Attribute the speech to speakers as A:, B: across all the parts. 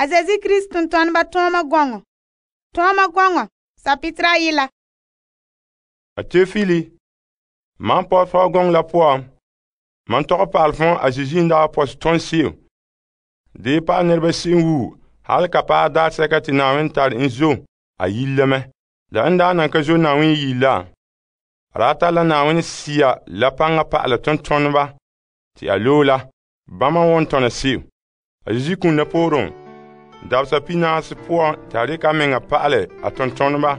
A: A Zeezi Krista tontoneba tooma gɔŋɔ sapitira ayila.
B: A Teofili, mam pɔt fɔɔ gɔŋɔ la poan, mam tɔgɛ pa'al fɔn a Zeezi n daa pɔsɛ tõn se'em. Dee pa'al nɛreba se'em wuo hal ka paɛ daarsɛka te Na'ayenɛ tare en zo a yile la mɛ. La n daa nan ka zo Na'ayenɛ yile la, a daa tare la Na'ayenɛ Sea la paŋa pa'ala tontoneba te a loe la, bama wan tɔna se'em. A Zeezi kum la pooren dabesa pinaasi poan te a dikɛ a meŋa pa'alɛ a tontoneba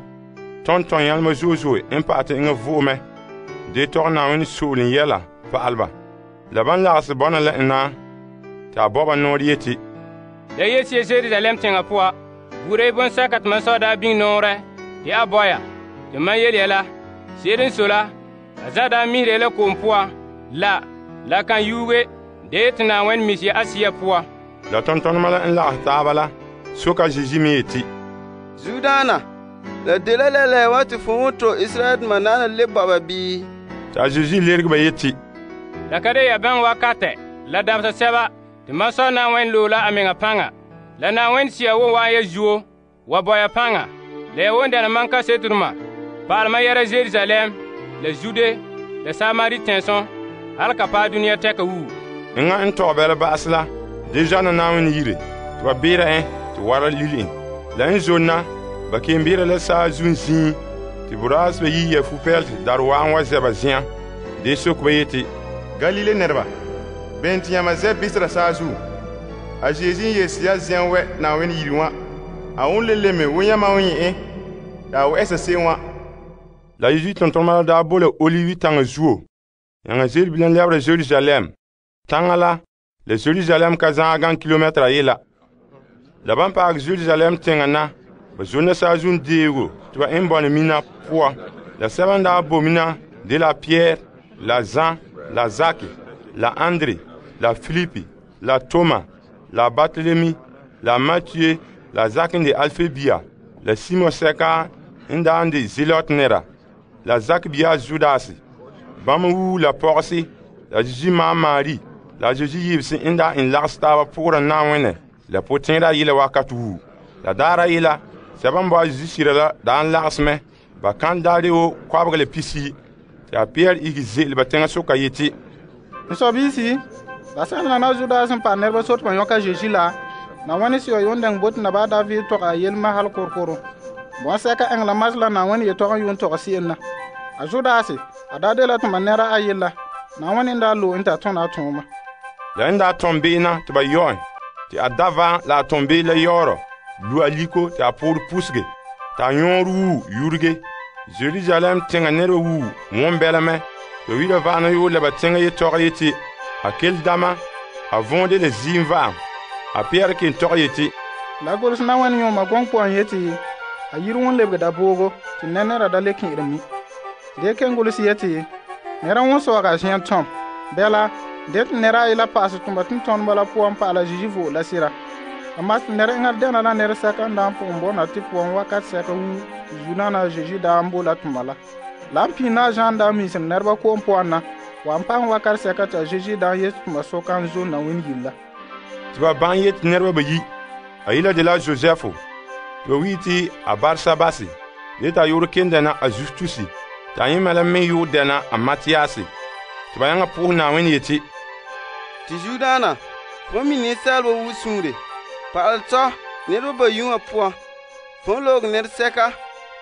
B: tɔntɔn yɛlema zo'e zo'e n pa'atɛ eŋa vo'e mɛ. Dee tɔgɛ Na'ayenɛ so'olem yɛla pa'alɛ ba. La ban lagahɛ bɔna la en na te a bɔba nɔɔrɛ yeti,
C: la yeti Jerusalem teŋa poa, buuri bonsɛka te mam sɔ daa biŋ nɔɔrɛ te a bɔya. Te mam yele ya la, se'ere n sɔe la, a za daa mihera la ko'om poa, la kan yuuge, dee te Na'ayenɛ misi ya a Sea poa.
B: La tontonema la n lagahɛ taaba la soka Zeezi me yeti,
D: Zudaana, la dela la wa te fo won to Israel doma naana lebe ba bii?
B: Ta Zeezi lerege ba yeti,
C: La ka de ya bãng wakatɛ la dabesa sɛba te mam sɔ Na'ayenɛ loe la a meŋa paŋa. La Na'ayenɛ Sea won wa'an ya zuo wa bɔya paŋa. La ya won dɛna mam kaseterema pa'alɛ mam yɛra Jerusalem, la Zude, la Samari tɛnso, hal ka paɛ duniya tɛka wuo.
B: Enŋa n tɔgɛ bɛla ba'ase la, de zana Na'ayenɛ yire, te ba beera en te wara lili en. La n zonna, ba kelum beera la saazuun zĩig, te boraas ba yi ya fupɛlete darɛ wa'an wa zɛ ba zen'an. Dee sok ba yeti,
E: Galile nɛreba, bene te yãmba zɛ bisera saazuo? A Zeezi n yele ya zɛn wɛ Na'ayenɛ yire wã, a won le leme wo yãmba won nyɛ en te a wɛ'ɛsa se'em wã.
B: La Zeezi tontonema la daa bo la Olivi taŋa zuo, yãŋa ze'ele bilam lɛbera Jerusalem. Taŋa la Jerusalem ka zãa gan kilomɛtera ayela. La ban paagɛ Jerusalem teŋa na, ba zonna saazuun deego te ba en bɔna mina poa. La sɛba n daa bo mina de la Pierre, la Jean, la Zake, la Andre, la Philippe, la Thomas, la Barthélemy, la Matthieu, la Zake n de Alfe bia, la Simon sɛka n daa n de Zelot nɛra, la Zake bia Judas. Bãmb wuu la pɔgese, la Zeezi maa Maari, la Zeezi yibsi n daa en lagesɛ taaba pʋgra Na'ayenɛ la potẽada yela wakat wuu. La daara yela, sɛba n bao a Zeezi sira la daa n lages mɛ. Ba kan daare wo kɔbega la pisi, te a Pierre igi ze'ele ba teŋa soka yeti,
F: N sɔbiisi, la sɛla na Judas n paɛ nɛreba sot pa yõka Zeezi la, Na'ayenɛ Sea yon dɛŋ bote naba a David tɔgɛ a yelma hal korkoro. Bõn-sɛka ɛŋ la mas la Na'ayenɛ yetɔgɔ n yon tɔgɛ se'em na. A Judas, a daa de la tʋma nɛra a yella, Na'ayenɛ n daa loe n ta tõna a tõoma.
B: la n daa tɔm be'ena te ba yɔ en, te a davã la a tɔm be'em la yaoorɔ, lu a liko te a poorɛ pusege, te a yõor wuu yurege. Jerusalem teŋa nɛreba wuu wõn bɛla mɛ. Ba wira va'ana yoo la ba teŋa yetɔgɔ yeti, a kel dama, a võode la ziim va'am. A Pierre ken tɔgɔ yeti,
F: La gʋls Na'ayenɛ yõoma gɔŋ puan yeti, a yiri won lebege daboogo tɩ nɛra da le kẽere mi. Dee ken gʋls yeti, nɛra won soaga a zen tɔm. Bɛla, de tɩ nɛra a ye la paase tʋma tʋm-tõneba la puan pa'ala Zeezi vo'o la sira. Amaa tɩ nɛra eŋa dɛna la nɛresɛka n daa n pʋgẽ bɔna tɩ puan wakat sɛka wuu zu-naana Zeezi daa n bo la tʋma la. La n pĩi na Zãn daa miisem nɛreba ko'om puan na, wa n paŋ wakat sɛka tɩ a Zeezi daa n yet tʋma soka n zo Na'ayenɛ yire la.
B: tɩ ba bãng yeti nɛreba bayi. A yila de la Josɛfo, tɩ ba wi tɩ a Barsabase, de t'a yoor ken dɛna a Justusi, t'a yẽma la me yoor dɛna a Matiyase. Tɩ ba yãŋa pʋʋs Na'ayenɛ yeti,
D: Tɩ Zudaana, fo mi ninsaalba wu sũure, pa'alɛ tɔ nɛreba bayi wã poan, fo loog nɛresɛka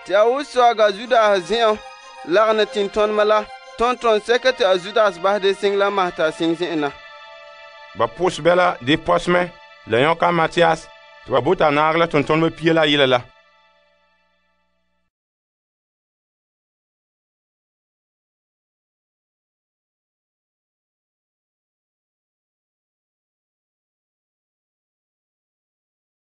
D: tɩ a wo soaga Judas zẽ'ã lagena tɩntɔnema la tõntɔn sɛka tɩ a Judas basɛ de sɩng la masɛ t'a sɩng zẽ'en na.
B: ba pʋs bɛla de pɔsmɛ la yõka a Matiyas, tɩ ba bota a naag la tontoneba pia la a yela la.